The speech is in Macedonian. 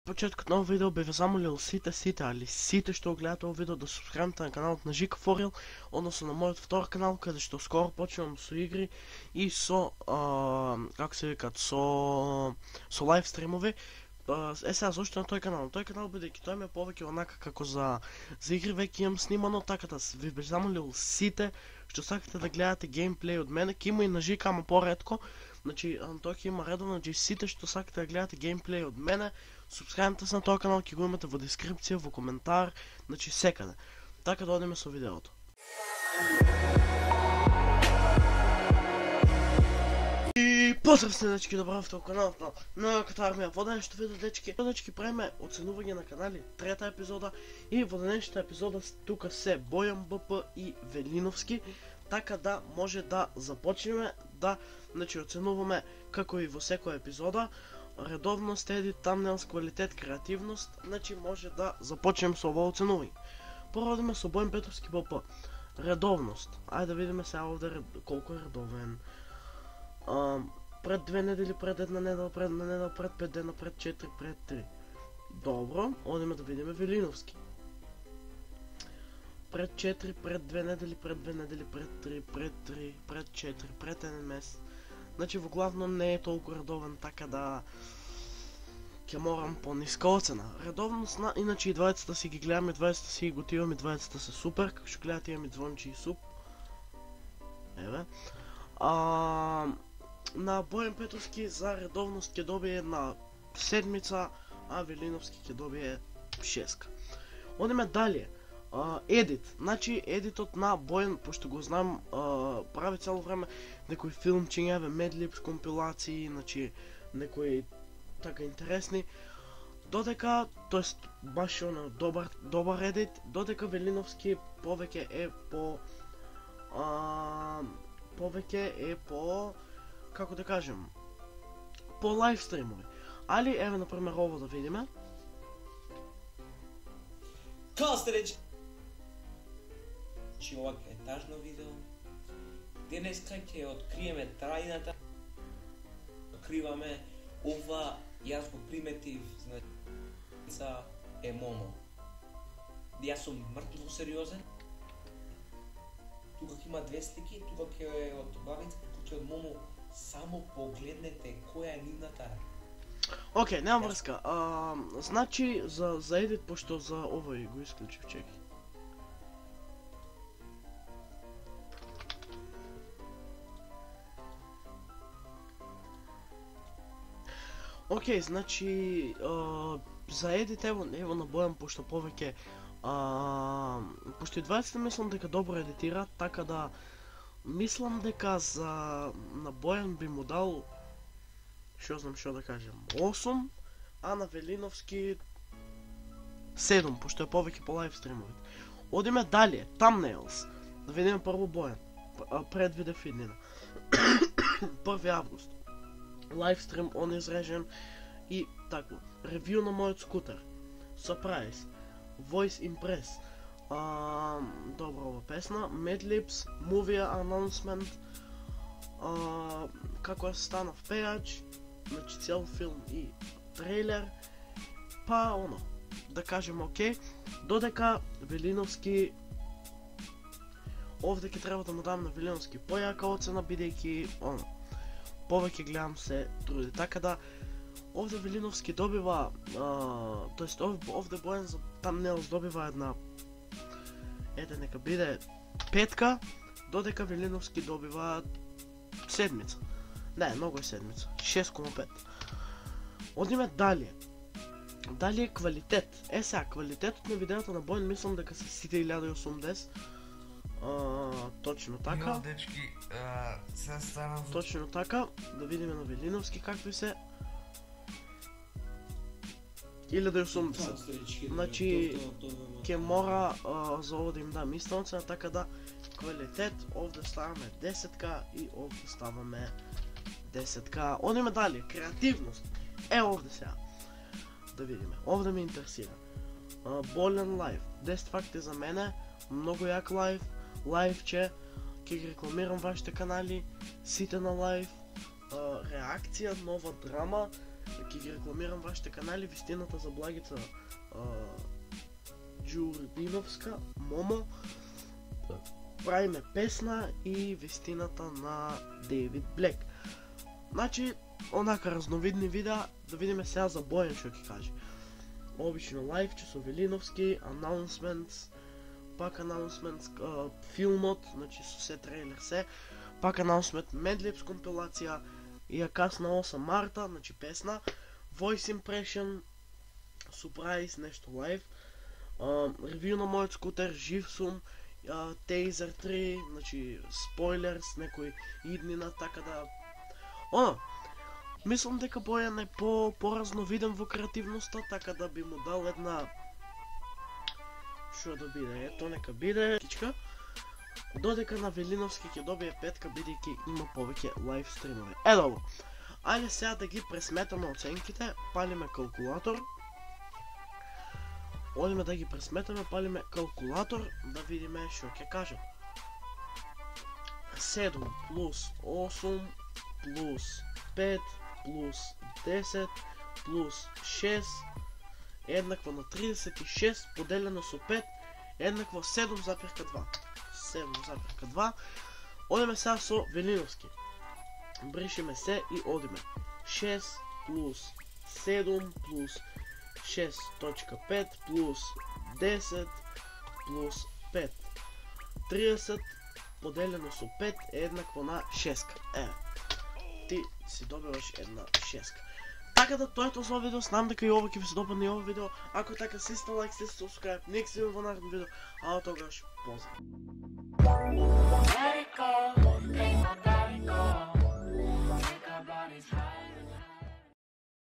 почеткот на овој видео би ве замолил сите, али сите што го гледате овој видео да субскрабите на каналот на Жика Форил, односно на мојот втор канал, каде што скоро почнувам со игри и со како се викат, со лайв стримови. Сега зошто на тој канал? На тој канал бидејќи тој ме повеќе онака како за игри веќе имам снимано, така да ви би замолил сите што сакате да гледате геймплей од мене, ќе има и на Жика, ама поретко. Значи, тој ќе има редовно, значи сите што сакате да гледате геймплей од мене, субскрабите се на тој канал, ќе го имате во дескрипција, во коментар, значи секаде. Така да одиме со видеото. И поздрав се, дечки, добравте во каналот на Катармија. Во денешното видео, дечки, правиме оценување на канали, трета епизода, и во денешната епизода тука се Бојан БП и Велиновски, така да може да започнеме да, значи, оценуваме како и во секоја епизода, редовност, едит, тамнелс, квалитет, креативност, значи може да започнем со ова оценување. Прво одиме со Бојан Петровски БП. Редовност. Ајде да видиме сега овде колку е редовен. Пред 2 недели, пред 1 недела, пред 1 недела, пред 5 дена, пред 4, пред 3. Добро, одиме да видиме Велиновски. Пред 4, пред 2 недели, пред 2 недели, пред 3, пред 3, пред 4, пред 1 месец. Значи во главном не е толку редовен, така да ќе морам по-ниска оцена. Редовност на, иначе и двајцата си ги гледам, и двајцата си ги готивам, и двајцата се супер, како што гледате имам и звончи и суп. Еве. На Бојан Петровски за редовност ќе добие една седмица, а Велиновски ќе добие 6. Одиме далje. Едит, значи едитот на Бојан, пошто го знам, прави цело време некои филмчиња, медлипс, компилации, значи некои така интересни, додека, тоест баш оно добар едит, додека Велиновски повеќе е по како да кажем, по лайв стримови. Али еве например ово да видиме. Костреч. Чи ова е тажно видео. Денеска ќе откриеме трајната. Откриваме ова, јас го приметив, значи е Момо. Јас сум мртво сериозен. Тука има две слики, тука ќе е од Бабица, тука ќе од Момо. Само погледнете која е нивната. Океј, нема врска. Значи за едит, пошто за овој го исклучив, чекај. Океј, значи за едит ево на Бојан, пошто повеќе пошто и 20 мислам дека добро едитира, така да мислам дека на Бојан би му дал, што знам што да кажем, 8, а на Велиновски 7, пошто е повеќе по лайв стримовите. Одиме далje, тамнейлс. Да видиме прво Бојан. Предвиде фиднина. 1 август. Лайв стрим он изрежен и тако. Ревју на мојот скутер. Surprise. Voice Impress. Добра ова песна. Medlips, Movie Announcement, како се станав пејач, значи цел филм и трейлер, па оно, да кажем окей, додека Велиновски, овде ќе треба да му дам на Велиновски појака оцена, бидејќи оно, повеќе гледам се труди, така да овде Велиновски добива, тоест овде Бојан за тамнелс добива една нека биде 5, додека Велиновски добива седмица. Не, многу е седмица. 6,5. Одиме далje. Далje е квалитет. Сега, квалитетот на видеото на Бојан мислам дека се сите 1080. Точно така. Дечки, сега станам... Точно така. Да видиме на Велиновски какви се. 1080. Значи, ќе мора за ово да им дам иста оцена, така да квалитет, овде ставаме 10 и овде ставаме 10. Одиме далje, креативност. Овде сега. Да видиме. Овде ме интересира. Болен лайв. 10 факти за мене. Многу јак лайв. Лайвче. Ќе ги рекламирам вашите канали. Сите на лайв. Реакција, нова драма. Ќе ги рекламирам вашите канали, вистината за Благица Джурдиновска, Момо, правиме песна и вистината на Дейвид Блек. Значи, онака разновидни видеа, да видиме сега за Бојан што ќе каже. Обично лайвче со Велиновски, announcements, пак announcements, филмот, значи со се трейлер се, пак announcement, Medlibs компилација, и ја касна 8 марта, значи песна, voice impression, surprise, нешто лайв, ревю на мојот скутер, жив сум, Taser 3, значи спойлерс, некои иднина, така да... Мислам дека Бојан е по-разновиден во креативноста, така да би му дал една... Шо да биде, ето нека биде... Додека на Велиновски ќе добие 5, бидејќи има повеќе лайв стримови. Добро. Ајде сега да ги пресметаме оценките, палиме калкулатор. Одиме да ги пресметаме, палиме калкулатор, да видиме што ќе кажат. 7 плюс 8 плюс 5 плюс 10 плюс 6 еднакво на 36 поделено со 5 еднакво 7,2. 7,2. Одиме сега со Велиновски. Бришиме се и одиме. 6 плюс 7 плюс 6.5 плюс 10 плюс 5. 30 поделено со 5 е еднакво на 6. Ти си добиваш една 6. Така да тоа е тоа за видео, знам дека и ова ќе ви се допадне и ова видео. Ако така сте лайк, сте subscribe, нека се видиме во наредно видео, а од тогаш поздрав.